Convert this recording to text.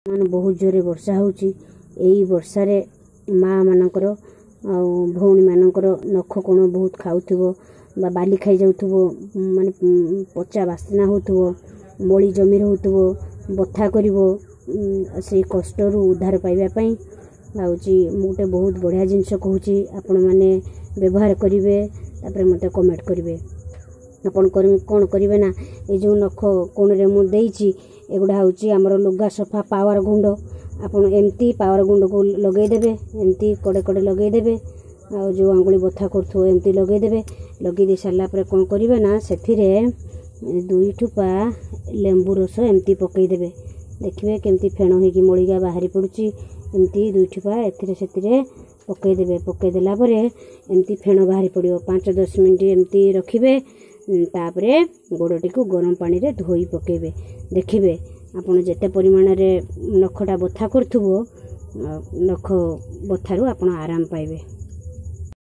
ମାନେ ବହୁତ ଜୋରରେ ବର୍ଷା ହେଉଛି। ଏଇ ବର୍ଷାରେ ମା' ମାନଙ୍କର ଆଉ ଭଉଣୀମାନଙ୍କର ନଖ କୋଣ ବହୁତ ଖାଉଥିବ ବା ବାଲି ଖାଇଯାଉଥିବ, ମାନେ ପଚା ବାସ୍ନା ହେଉଥିବ, ମଳି ଜମି ରହୁଥିବ, ବଥା କରିବ, ସେଇ କଷ୍ଟରୁ ଉଦ୍ଧାର ପାଇବା ପାଇଁ ହେଉଛି ମୁଁ ଗୋଟେ ବହୁତ ବଢ଼ିଆ ଜିନିଷ କହୁଛି। ଆପଣମାନେ ବ୍ୟବହାର କରିବେ, ତାପରେ ମୋତେ କମେଣ୍ଟ କରିବେ। ଆପଣ କ'ଣ କରିବେ ନା, ଏଇ ଯେଉଁ ନଖ କୋଣରେ ମୁଁ ଦେଇଛି, ଏଗୁଡ଼ା ହେଉଛି ଆମର ଲୁଗା ସଫା ପାୱାର ଗୁଣ୍ଡ। ଆପଣ ଏମିତି ପାୱାର ଗୁଣ୍ଡକୁ ଲଗେଇଦେବେ, ଏମିତି କଡ଼େ କଡ଼େ ଲଗେଇଦେବେ, ଆଉ ଯେଉଁ ଆଙ୍ଗୁଳି ବଥା କରୁଥିବ ଏମିତି ଲଗେଇଦେବେ। ଲଗେଇ ଦେଇ ସାରିଲା ପରେ କ'ଣ କରିବେ ନା, ସେଥିରେ 2 ଠୋପା ଲେମ୍ବୁ ରସ ଏମିତି ପକାଇଦେବେ। ଦେଖିବେ କେମିତି ଫେଣ ହେଇକି ମଳିକା ବାହାରି ପଡ଼ୁଛି। ଏମିତି 2 ଠୋପା ଏଥିରେ ସେଥିରେ ପକାଇଦେବେ। ପକାଇଦେଲା ପରେ ଏମିତି ଫେଣ ବାହାରି ପଡ଼ିବ। 5 10 ମିନିଟ୍ ଏମିତି ରଖିବେ, ତାପରେ ଗୋଡ଼ଟିକୁ ଗରମ ପାଣିରେ ଧୋଇ ପକାଇବେ। ଦେଖିବେ ଆପଣ ଯେତେ ପରିମାଣରେ ନଖଟା ବଥା କରୁଥିବ, ନଖ ବଥାରୁ ଆପଣ ଆରାମ ପାଇବେ।